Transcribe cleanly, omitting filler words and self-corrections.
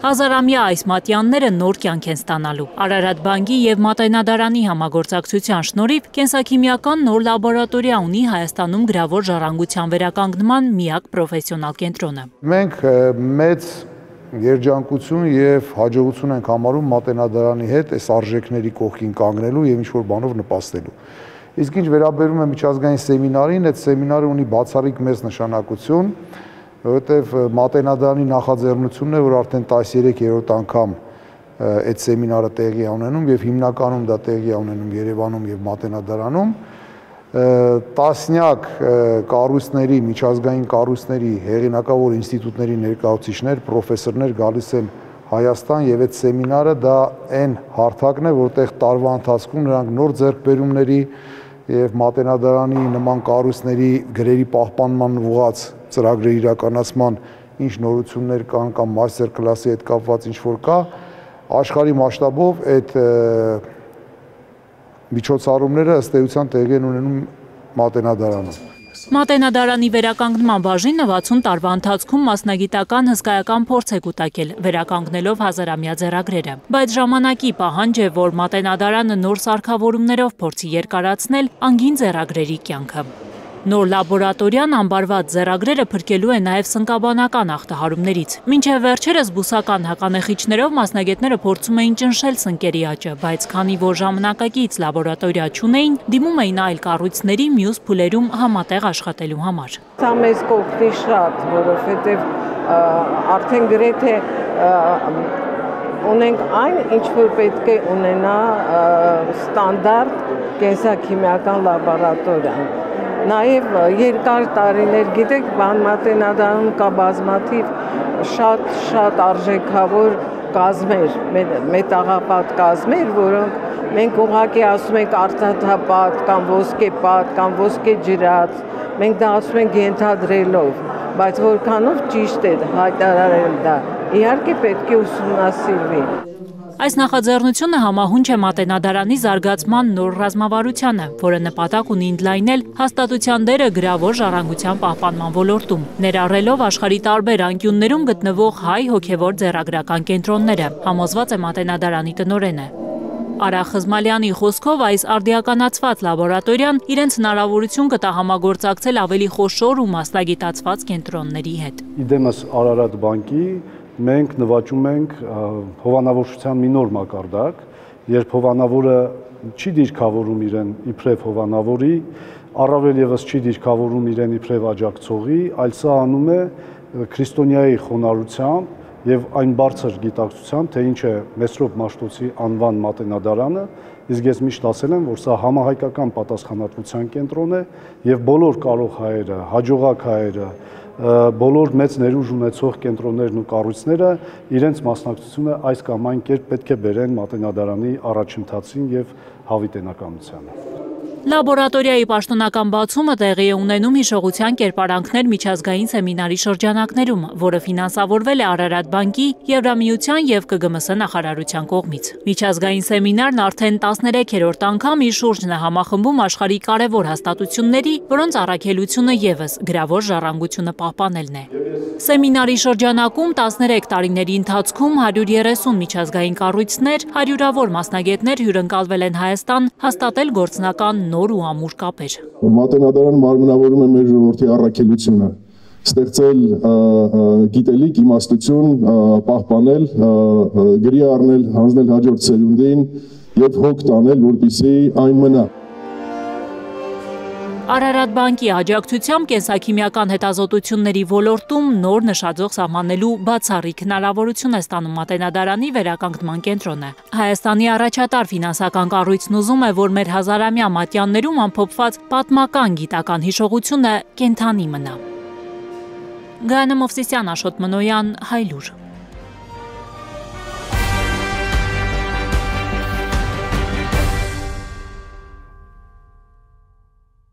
Հազարամյա այս մատյանները նոր կյանք են ստանալու։ Արարատ բանկի եւ Մատենադարանի համագործակցության շնորհիվ կենսաքիմիական նոր լաբորատորիա ունի Հայաստանում գրավոր ժառանգության վերականգնման միակ պրոֆեսիոնալ կենտրոնը։ Մենք մեծ երջանկություն եւ հաջողություն ենք համարում Մատենադարանի հետ այս արժեքների կողքին կանգնելու եւ ինչ-որ բանով նպաստելու։ Իսկ ինչ վերաբերում է միջազգային սեմինարին, այդ սեմինարը ունի բացառիկ մեծ նշանակություն, որովհետև Մատենադարանի նախաձեռնությունն է, որ արդեն 13-րդ անգամ այդ սեմինարը տեղի է ունենում եւ հիմնականում դա տեղի է ունենում Երևանում եւ Մատենադարանում, տասնյակ կառույցների, միջազգային կառույցների, հեղինակավոր ինստիտուտների ներկայացուցիչներ, պրոֆեսորներ գալիս են Հայաստան եւ այդ սեմինարը դա այն հարթակն է, որտեղ տարվա ընթացքում նրանք նոր ձեռքբերումների եւ Մատենադարանի նման կառույցների գրերի պահպանման ուղղված ծրագրերի իրականացման ինչ նորություններ կան կամ մաստեր կլասի հետ կապված ինչ որ կա, աշխարհի մասշտաբով այդ միջոցառումները ըստ էության տեղի են ունենում Մատենադարանում։ Մատենադարանի վերականգնման բաժինը 60 տարվա ընթացքում մասնագիտական հսկայական փորձ է կուտակել, վերականգնելով հազարամյա ձեռագրերը։ Բայց ժամանակի պահանջ է, որ Մատենադարանը նոր սարքավորումներով փորձի երկարացնել անգին ձեռագրերի կյանքը։ Նոր լաբորատորիան ամբարված ձեռագրերը փրկելու է նաև սնկաբանական ախտահարումներից։ Մինչև վերջերս բուսական հականեխիչներով մասնագետները փորձում էին ճնշել սնկերի աճը, բայց քանի որ ժամանակակից լաբորատորիա չունեին, դիմում էին այլ կառույցների մյուս փուլերում համատեղ աշխատելու համար։ Սա մեզ կօգնի շատ, որովհետև արդեն գրեթե ունենք այն, ինչ որ պետք է ունենա ստանդարտ կենսաքիմիական լաբորատորիան։ Նաև երկար տարիներ, գիտեք, Մատենադարանում կա բազմաթիվ շատ արժեքավոր կազմեր, մետաղապատ կազմեր, որոնք մենք ուղղակի ասում ենք արծաթապատ կամ ոսկեպատ կամ ոսկեջրած, մենք դա ասում ենք ենթադրելով, բայց որքանով ճիշտ է հայտարարել դա, իհարկե պետք է ուսումնասիրվի։ Այս նախաձեռնությունը համահունչ է Մատենադարանի զարգացման նոր ռազմավարությանը, որը նպատակ ունի ընդլայնել հաստատության դերը գրավոր ժառանգության պահպանման ոլորտում, ներառելով աշխարհի տարբեր անկյուններում գտնվող հայ հոգևոր ձեռագրական կենտրոնները, համոզված է Մատենադարանի տնօրենը։ Արա Խզմալյանի խոսքով այս արդիականացված լաբորատորիան իրենց հնարավորություն կտա համագործակցել ավելի խոշոր ու մասնագիտացված կենտրոնների հետ։ Իդեմս Արարատ բանկի մենք նվաճում ենք հովանավորչության մի նոր մակարդակ, երբ հովանավորը չի դիրքավորում իրեն իբրև հովանավորի, առավել եւս չի դիրքավորում իրեն իբրև աջակցողի, այլ սա անում է քրիստոնյայի խոնարհությամբ եւ այն բարձր գիտակցությամբ, թե ինչ է Մեսրոպ Մաշտոցի անվան Մատենադարանը, իսկ ես միշտ ասել եմ, որ սա համահայկական պատասխանատվության կենտրոն է եւ բոլոր կարող հայերը, հաջողակ հայերը, բոլոր մեծ ներուժ ունեցող կենտրոններն ու կառույցները իրենց մասնակցությունը այս կամ այն կերպ պետք է բերեն Մատենադարանի առաջընթացին եւ հավիտենականությանը։ Լաբորատորիայի պաշտոնական բացումը տեղի է ունենում հիշողության կերպարանքներ միջազգային սեմինարի շրջանակներում, որը ֆինանսավորվել է Արարատ բանկի, Եվրամիության եւ ԿԳՄՍ նախարարության կողմից։ Միջազգային սեմինարն արդեն 13-րդ անգամ իր շուրջն է համախմբում աշխարհի կարևոր հաստատությունների, որոնց առաքելությունը եւս գրավոր ժառանգությունը պահպանելն է։ Սեմինարի շրջանակում 13 տարիների ընթացքում 130 միջազգային կառույցներ, հարյուրավոր մասնագետներ հյուրընկալվել են Հայաստան հաստատել գործնական նոր ու ամուր կապեր։ Մատենադարանը մարմնավորում է մեր ժողովրդի առաքելությունը, ստեղծել գիտելիք, իմաստություն, պահպանել, գրի առնել, հանձնել հաջորդ սերունդին եւ հոգ տանել, որպեսզի այն մնա։ Արարատ բանկի աջակցությամբ կենսաքիմիական հետազոտությունների ոլորտում նոր նշաձող սահմանելու բացառիկ հնարավորություն է ստանում Մատենադարանի վերականգնման կենտրոնը։ Հայաստանի առաջատար ֆինանսական կառույցն ուզում է, որ մեր հազարամյա մատյաններում ամփոփված պատմական գիտական հիշողությունը կենդանի մնա։ Գայանե Մովսիսյան, Աշոտ Մնոյան, Հայլուր։